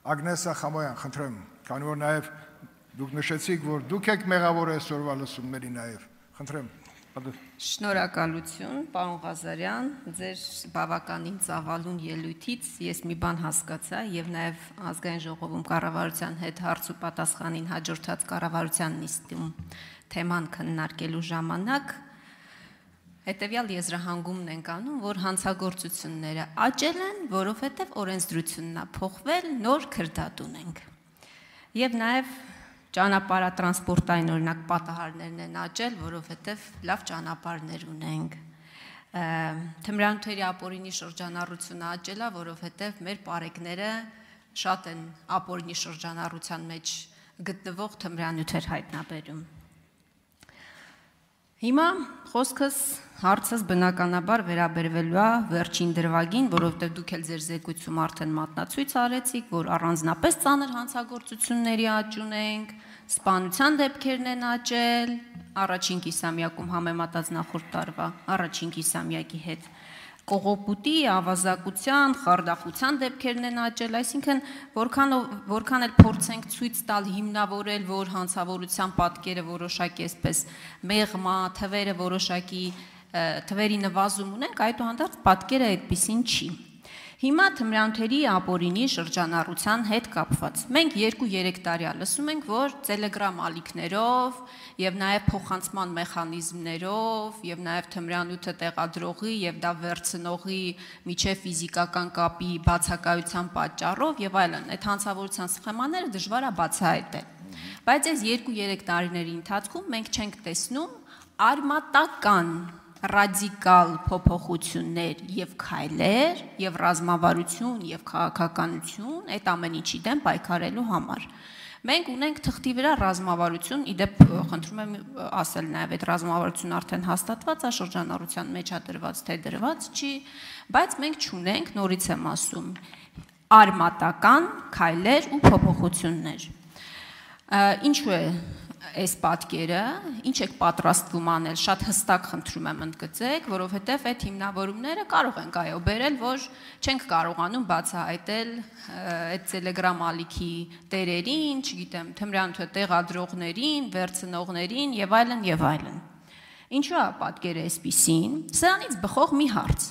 Ագնեսա Խամոյան, խնդրեմ, քանի որ նաև դուք նշեցիք, որ դուք եք մեղավոր այսօրվա լսումների նաև, խնդրեմ։ Շնորհակալություն, պարոն Ղազարյան, ձեր բավականին ծավալուն ելույթից ես մի բան հասկացա եւ նաեւ ազգային ժողովում կառավարության հետ հարց ու պատասխանին հաջորդած կառավարության նիստում թեման քննարկելու ժամանակ հետեւյալ եզրահանգումն ենք անում, որ հանցագործությունները աճել են, որովհետեւ օրենսդրությունն է փոխվել, նոր քրդատ ունենք։ Եվ նաեւ ճանապարհատրանսպորտային օրինակ պատահարներն են աճել, որովհետև լավ ճանապարհներ ունենք։ Թմրանյութերի ապօրինի շրջանառությունը աճել է, որովհետև մեր պարեկները շատ են ապօրինի շրջանառության մեջ գտնվող թմրանյութեր հայտնաբերում։ Հիմա խոսքս հարցս բնականաբար վերաբերվելու է վերջին դրվագին, որովհետև դուք էլ ձեր զեկույցում արդեն մատնացույց արեցիք, որ առանձնապես ծանր հանցագործությունների աճ ունենք, սպանության դեպքերն են աճել, առաջին կիսամյակում համեմատած նախորդ տարվա առաջին կիսամյակի հետ, կողոպուտի, ավազակության, խարդախության դեպքերն են աճել, այսինքն որքան էլ փորձենք ցույց տալ հիմնավորել, որ հանցավորության պատկերը որոշակի այսպես մեղմ է, թվերը որոշակի թվերի նվազում ունենք, այդուհանդերձ պատկերը այդպեսին չի։ Հիմա թմրանյութերի ապօրինի շրջանառության հետ կապված։ Մենք 2-3 տարի լսում ենք, որ Telegram ալիքներով եւ նաեւ փոխանցման մեխանիզմներով եւ նաեւ թմրանյութը տեղադրողի եւ դա վերցնողի միջև ֆիզիկական կապի բացակայության պատճառով եւ այլն, այդ հանցավորության սխեմաները դժվար է բացահայտել։ Բայց այս 2-3 տարիների ընթացքում մենք չենք տեսնում արմատական ռադիկալ փոփոխություններ եւ քայլեր եւ ռազմավարություն եւ քաղաքականություն այդ ամեն ինչի դեմ պայքարելու համար։ Մենք ունենք թղթի վրա ռազմավարություն, իդեպ խնդրում եմ ասել նաեւ այդ ռազմավարությունը արդեն հաստատված է շրջանառության մեջ է դրված, թե դրված չի, բայց մենք չունենք, նորից եմ ասում, արմատական քայլեր ու փոփոխություններ։ Ինչու է այս պատկերը, ինչ եք պատրաստվում անել, շատ հստակ խնդրում եմ ընդգծեք, որովհետև այդ հիմնավորումները կարող ենք այո բերել, որ չենք կարողանում բացահայտել այդ Telegram ալիքի տերերին, չգիտեմ, թմրանյութը տեղադրողներին, վերցնողներին եւ այլն եւ այլն։ Ինչու է պատկերը այսպիսին։ Սրանից բխող մի հարց։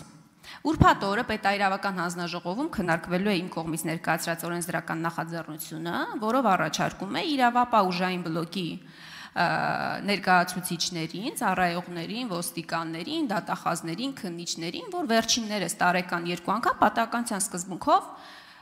Ուրբաթ օրը պետաիրավական հանձնաժողովում քննարկվելու է իմ կողմից ներկայացրած օրենսդրական նախաձեռնությունը, որով առաջարկում է իրավապահ ուժային բլոկի ներկայացուցիչներին, ծառայողներին, ոստիկաններին, դատախազներին, քննիչներին, որ վերջիններս տարեկան 2 անգամ պատահականության սկզբունքով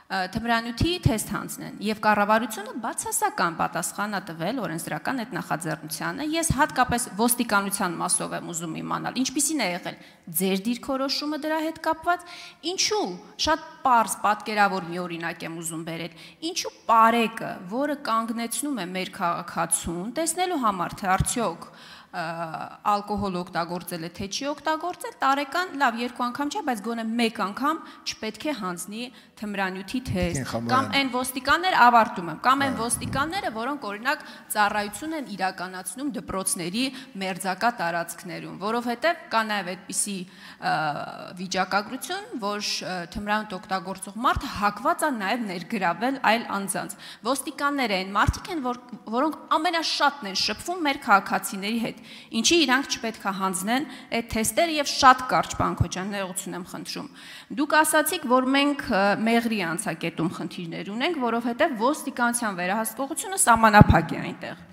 թմրանյութի թեստ հանձնեն եւ կառավարությունը բացասական պատասխան է տվել օրենսդրական այդ նախաձեռնությանը։ Ես հատկապես ոստիկանության մասով եմ ուզում իմանալ, ինչպիսին է եղել ձեր դիրքորոշումը դրա հետ կապված, ինչու շատ պարզ պատկերավոր մի օրինակ եմ ուզում բերել, ինչու պարեկը, որը կանգնեցնում է մեր քաղաքացուն, տեսնելու համար թե արդյոք ալկոհոլ օգտագործել է, թե չի օգտագործել, տարեկան լավ 2 անգամ չէ, բայց գոնե 1 անգամ չպետք է հանձնի թմրանյութի թեստ, կամ այն ոստիկաններ ավարտում եմ, կամ այն ոստիկանները, որոնք օրինակ ծառայություն են իրականացնում դպրոցների մերձակա տարածքներում, որովհետև կա նաև այդպիսի վիճակագրություն, որ թմրանյութ օգտագործող մարդը հակված է նաև ներգրավել այլ անձանց։ Ոստիկանները այն մարդիկ են, որոնք ամենաշատն են շփվում մեր քաղաքացիների հետ։ Ինչի իրանք չպետք է հանձնեն այդ թեստերը եւ շատ կարճ բան Քոչյան, ներողություն եմ խնդրում։ Դուք ասացիք, որ մենք մեղրի անցակետում խնդիրներ ունենք, որովհետեւ ոստիկանության վերահսկողությունը սահմանափակ է այնտեղ։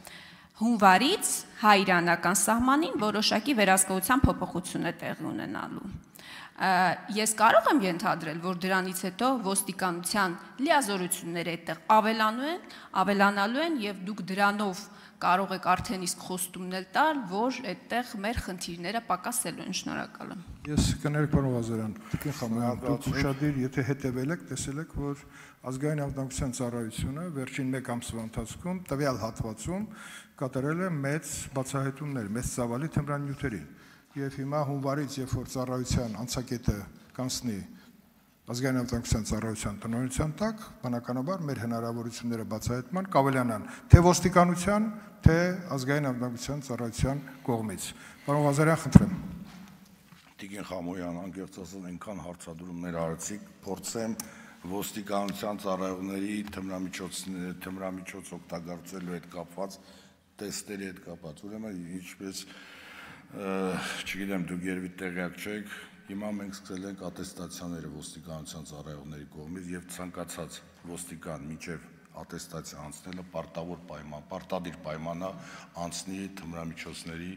Հունվարից հայ-իրանական սահմանին որոշակի վերահսկողության փոփոխություն է տեղի ունենալու։ Ես կարող եմ ենթադրել, որ դրանից հետո ոստիկանության լիազորությունները այդտեղ ավելանալու են եւ դուք դրանով կարող եք արդեն իսկ խոստումներ տալ, որ այդտեղ մեր խնդիրները պակասելու են։ Շնորհակալ եմ։ Ես կներեք պարոն Ղազարյան, Տիկին Խամոյան, դուք ուշադիր, եթե հետևել եք, տեսել եք, որ ազգային անվտանգության ծառայությունը վերջին 1 ամսվա ընթացքում տվյալ հատվածում կատարել է մեծ բացահայտումներ, մեծ ծավալի թմրանյութերին։ Եվ հիմա հունվարից, երբ որ ծառայության անցակետը կանցնի ազգային անվտանգության ծառայության տնօրինության տակ, բնականաբար մեր հնարավորությունները բացահայտման կավելանան թե ոստիկանության, թե ազգային անվտանգության ծառայության կողմից։ Պարոն Ղազարյան, խնդրեմ։ Տիկին Խամոյան, անկեղծ ասած, այնքան հարցադրումներ արեցիք, փորձեմ ոստիկանության ծառայողների թմրամիջոց օգտագործելու հետ կապված, տեստերի հետ կապված, ուրեմն ինչպես չգիտեմ, դուք երևի տեղյակ չեք, հիմա մենք սկսել ենք ատեստացիաները ոստիկանության ծառայողների կողմից եւ ցանկացած ոստիկան մինչեւ ատեստացիա անցնելը պարտադիր պայմանա անցնի թմրամիջոցների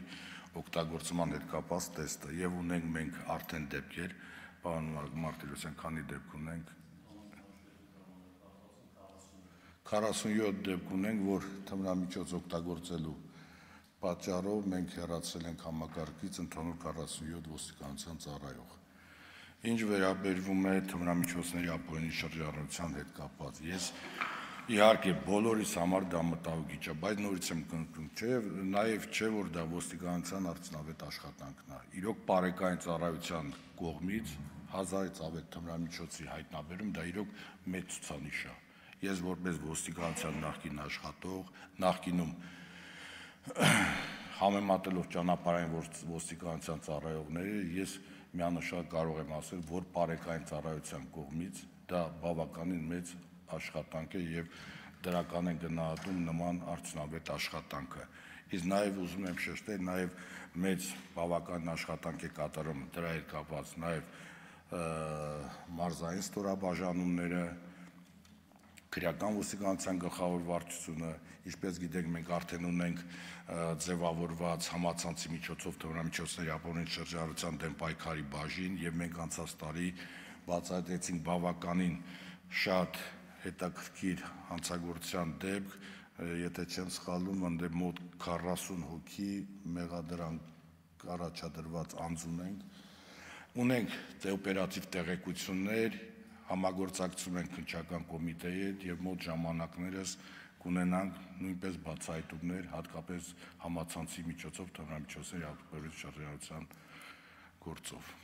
օգտագործման հետ կապված տեստը եւ ունենք մենք արդեն դեպքեր, պարոն Մարտիրոսյան, քանի դեպք ունենք 47 դեպք ունենք, որ թմրամիջոց օգտագործելու պատճառով մենք հեռացել ենք համակարգից ընդհանուր 47 ոստիկանության ծառայող։ Ինչ վերաբերվում է թմրամիջոցների ապօրինի շրջանառության հետ կապված, ես իհարկե բոլորիս համար դա մտահոգիչ է, բայց նորից եմ կնքում, նաև չէ, որ դա ոստիկանության արդյունավետ աշխատանքն է։ Իրոք բարեկային ծառայության կողմից 1000-ից ավել թմրամիջոցի հայտնաբերում, դա իրոք մեծ ցուցանիշ է։ Ես որպես ոստիկանության նախկին աշխատող, նախկինում համեմատելով ճանապարհային ոստիկանության ծառայողները, ես միանշան կարող եմ ասել, որ բարեկային ծառայության կողմից դա բավականին մեծ աշխատանք է եւ դրական են գնահատում նման արդյունավետ աշխատանքը։ Իսկ նաեւ ուզում եմ շեշտել, նաեւ մեծ բավական աշխատանք է կատարում դրա հետ կապված նաեւ մարզային ստորաբաժանումները, քրեական ոստիկանության գլխավոր վարչությունը, ինչպես գիտենք, մենք արդեն ունենք ձևավորված համացանցի միջոցով թմրամիջոցների ապօրինի շրջանառության դեմ պայքարի բաժին եւ մենք անցած տարի բացահայտեցինք բավականին շատ հետաքրքիր հանցագործության դեպք, եթե չեմ սխալվում, ընդդեմ մոտ 40 հոգի մեղադրանք առաջադրված անձ ունենք օպերատիվ տեղեկություններ, համագործակցում ենք քննչական կոմիտեի հետ եւ մոտ ժամանակներս կունենանք նույնպես բացահայտումներ, հատկապես համացանցի միջոցով թմրամիջոցների ապօրինի շրջանառության գործով։